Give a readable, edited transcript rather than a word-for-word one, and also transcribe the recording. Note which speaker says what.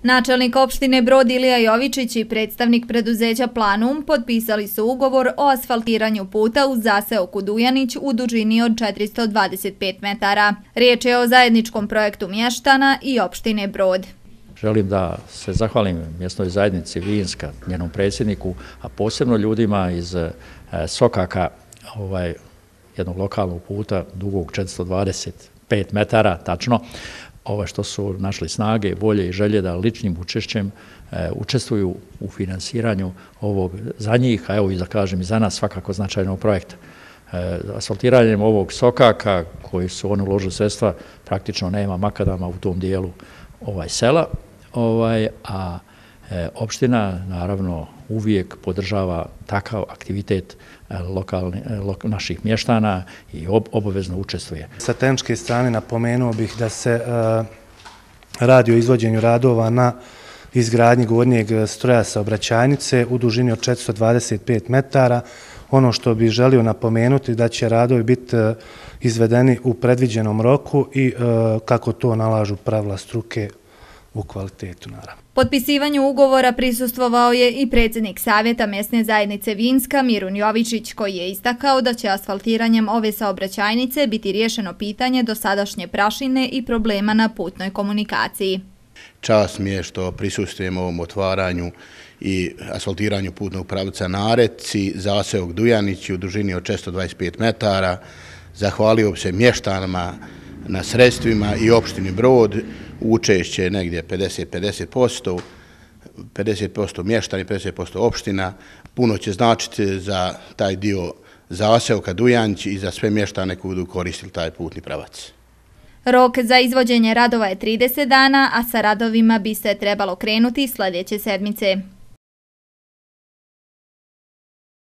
Speaker 1: Načelnik opštine Brod Ilija Jovičić i predstavnik preduzeća Planum potpisali su ugovor o asfaltiranju puta uz zaseoku Dujanić u dužini od 425 metara. Riječ je o zajedničkom projektu mještana i opštine Brod.
Speaker 2: Želim da se zahvalim mjesnoj zajednici Vinska, njenom predsjedniku, a posebno ljudima iz Sokaka, jednog lokalnog puta dugog 425 metara, tačno, što su našli snage, volje i želje da ličnim učešćem učestvuju u finansiranju ovog za njih, a evo i da kažem i za nas svakako značajnog projekta. Asfaltiranjem ovog Sokaka, koji su oni uložili sredstva, praktično nema makadama u tom dijelu sela, a opština naravno uvijek podržava takav aktivitet naših mještana i obavezno učestvuje.
Speaker 3: Sa tehničke strane napomenuo bih da se radi o izvođenju radova na izgradnji gornjeg stroja saobraćajnice u dužini od 425 metara. Ono što bih želio napomenuti da će radovi biti izvedeni u predviđenom roku i kako to nalažu pravila struke u kvalitetu, naravno.
Speaker 1: Potpisivanju ugovora prisustvovao je i predsjednik Savjeta mjesne zajednice Vinska Mirun Jovičić, koji je istakao da će asfaltiranjem ove saobraćajnice biti riješeno pitanje dosadašnje prašine i problema na putnoj komunikaciji.
Speaker 4: Čast mi je što prisustvujemo ovom otvaranju i asfaltiranju putnog pravca na Reci, zaseok Dujanić u dužini od 425 metara. Zahvalio bi se mještanima na sredstvima i opštini Brod, učešće negdje 50% mještani, 50% opština. Puno će značiti za taj dio zaseoka Dujanić i za sve mještane koji budu koristili taj putni pravac.
Speaker 1: Rok za izvođenje radova je 30 dana, a sa radovima bi se trebalo krenuti sljedeće sedmice.